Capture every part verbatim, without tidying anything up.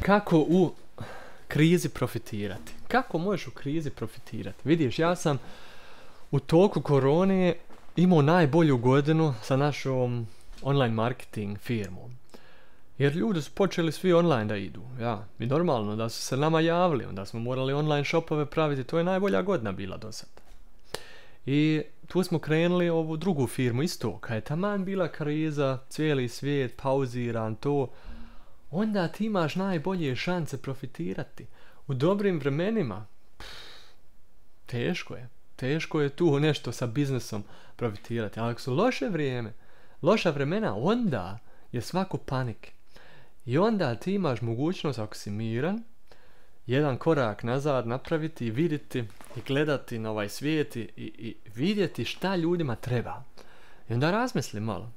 Kako u krizi profitirati? Kako možeš u krizi profitirati? Vidiš, ja sam u toku korone imao najbolju godinu sa našom online marketing firmom. Jer ljudi su počeli svi online da idu. Ja, i normalno da su se nama javili, onda smo morali online shopove praviti. To je najbolja godina bila do sad. I tu smo krenuli ovu drugu firmu isto. Kad je taman bila kriza, cijeli svijet pauziran, to, onda ti imaš najbolje šanse profitirati. U dobrim vremenima, pff, teško je. Teško je tu nešto sa biznesom profitirati. Ali ako su loše vrijeme, loša vremena, onda je svako panik. I onda ti imaš mogućnost, ako si miran, jedan korak nazad napraviti i vidjeti i gledati na ovaj svijet i, i vidjeti šta ljudima treba. I onda razmisli malo.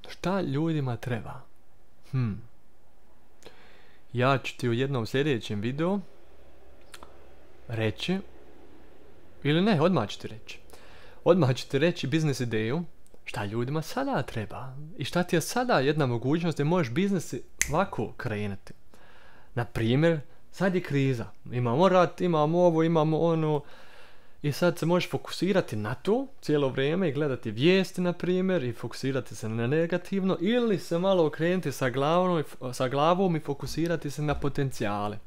Šta ljudima treba? Hm. Ja ću ti u jednom sljedećem videu reći, ili ne, odmah ću ti reći. Odmah ću ti reći biznis ideju, šta ljudima sada treba. I šta ti je sada jedna mogućnost da možeš biznis ovako krenuti. Na primjer, sad je kriza. Imamo rat, imamo ovo, imamo ono. I sad se možeš fokusirati na to cijelo vrijeme i gledati vijesti, na primjer, i fokusirati se na negativno. Ili se malo okrenuti sa glavom, sa glavom i fokusirati se na potencijale.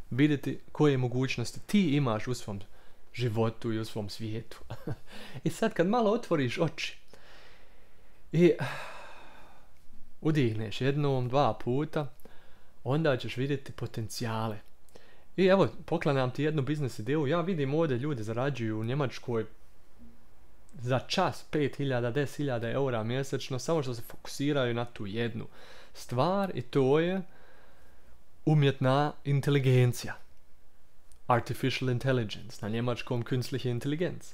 Vidjeti koje mogućnosti ti imaš u svom životu i u svom svijetu. I sad kad malo otvoriš oči i udihneš jednom, dva puta, onda ćeš vidjeti potencijale. I evo, poklanjam ti jednu biznis ideju. Ja vidim ovdje ljudi zarađuju u Njemačkoj za čas pet hiljada, deset hiljada eura mjesečno, samo što se fokusiraju na tu jednu stvar, i to je umjetna inteligencija. Artificial intelligence, na njemačkom künstliche Intelligenz.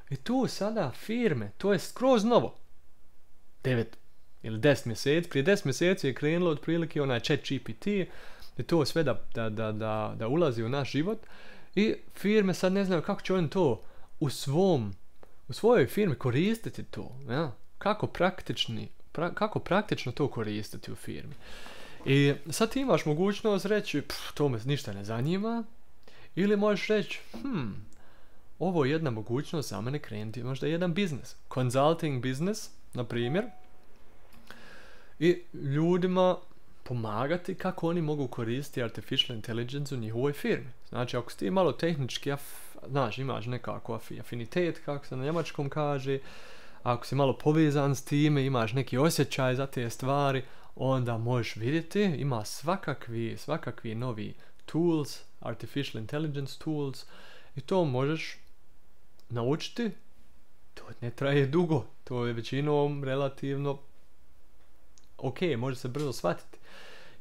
I tu sada firme, to je skroz novo. devet ili deset mjeseci, prije deset mjeseci je krenulo otprilike onaj chat G P T, i to sve da, da, da, da, da ulazi u naš život. I firme sad ne znaju kako će oni to u svom, u svojoj firmi koristiti to. Ja? Kako, praktični, pra, kako praktično to koristiti u firmi. I sad ti imaš mogućnost reći, pff, to me ništa ne zanima. Ili možeš reći, hm, ovo je jedna mogućnost za mene krenuti možda jedan biznis. Consulting biznis, na primjer. I ljudima pomagati kako oni mogu koristiti artificial intelligence u njihovoj firmi. Znači, ako si ti malo tehnički, af, znaš, imaš nekako afinitet, kako se na njemačkom kaže, ako si malo povezan s time, imaš neki osjećaj za te stvari, onda možeš vidjeti, ima svakakvi, svakakvi novi tools, artificial intelligence tools, i to možeš naučiti. To ne traje dugo, to je većinom relativno ok, može se brzo shvatiti.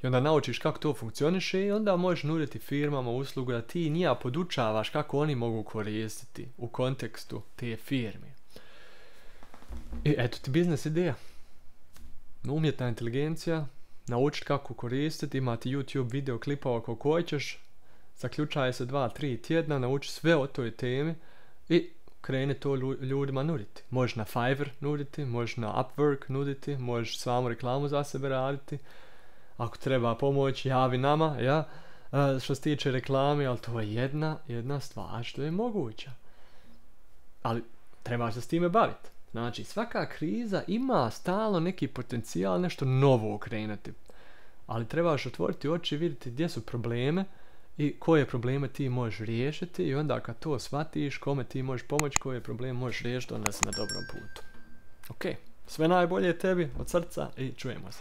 I onda naučiš kako to funkcioniše i onda možeš nuditi firmama uslugu da ti njija podučavaš kako oni mogu koristiti u kontekstu te firme. I eto ti biznis ideja. Umjetna inteligencija, naučiti kako koristiti, imati YouTube video klipova koliko hoćeš, zaključaje se dva, tri tjedna, nauči sve o toj temi i krene to ljudima nuditi. Možeš na Fiverr nuditi, možeš na Upwork nuditi, možeš samu reklamu za sebe raditi. Ako treba pomoć, javi nama, ja, uh, što se tiče reklame, ali to je jedna, jedna stvar što je moguća. Ali trebaš se s time baviti. Znači, svaka kriza ima stalno neki potencijal, nešto novo okrenuti. Ali trebaš otvoriti oči i vidjeti gdje su probleme i koje probleme ti možeš riješiti, i onda kad to shvatiš, kome ti možeš pomoći, koje probleme možeš riješiti, onda si na dobrom putu. Ok, sve najbolje tebi od srca i čujemo se.